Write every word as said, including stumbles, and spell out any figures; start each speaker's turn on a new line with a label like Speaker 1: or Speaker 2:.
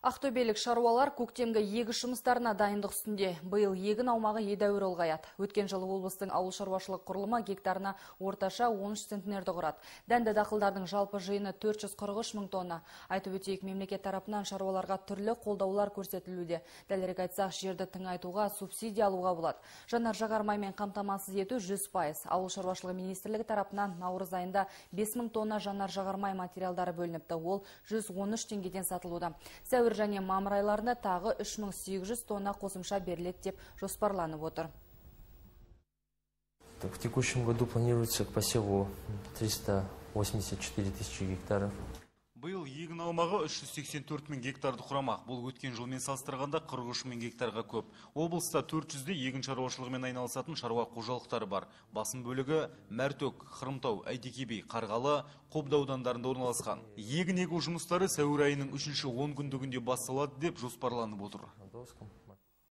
Speaker 1: Ақтөбелік шаруалар көктемгі егіс жұмыстарына дайындық үстінде. Биыл егін аумағы едәуір ұлғаяды. Өткен жылы облыстың ауыл шаруашылық құрылымы гектарына орташа он үш центнерді құрады. Дәнді дақылдардың жалпы жиыны төрт жүз қырық үш мың тонна. Айтып өтейік, мемлекет тарапынан шаруаларға түрлі қолдаулар көрсетілуде. Дәлірек айтсақ, жерді тыңайтуға, субсидия алуға болады. Жанар жағармаймен қамтамасыз ету жүз пайыз. Ауыл шаруашылығы министрлігі тарапынан наурыз айында бес мың тонна жанар жағармай материалдары бөлініпті. Ол жүз он үш теңгеден сатылуда. Сәуір және мамыр айларында тағы үш мың сегіз жүз тонна қосымша беріледі деп жоспарланып отыр.
Speaker 2: В текущем году планируется к посеву триста восемьдесят четыре тысячи гектаров.
Speaker 3: Биыл егін аумағы үш жүз сексен төрт мың гектарды құрамақ. Бұл өткен жылмен салыстырғанда қырық үш мың гектарға көп. Облыста төрт жүзде егін шаруашылығымен айналысатын шаруа қожалықтары бар. Басым бөлігі Мәртөк, Хырымтау, Әйтеке би, Қарғалы, Қобда аудандарында орналасқан. Егін егу жұмыстары сәуір айының үшінші он күндігінде басталады деп жоспарланып отыр.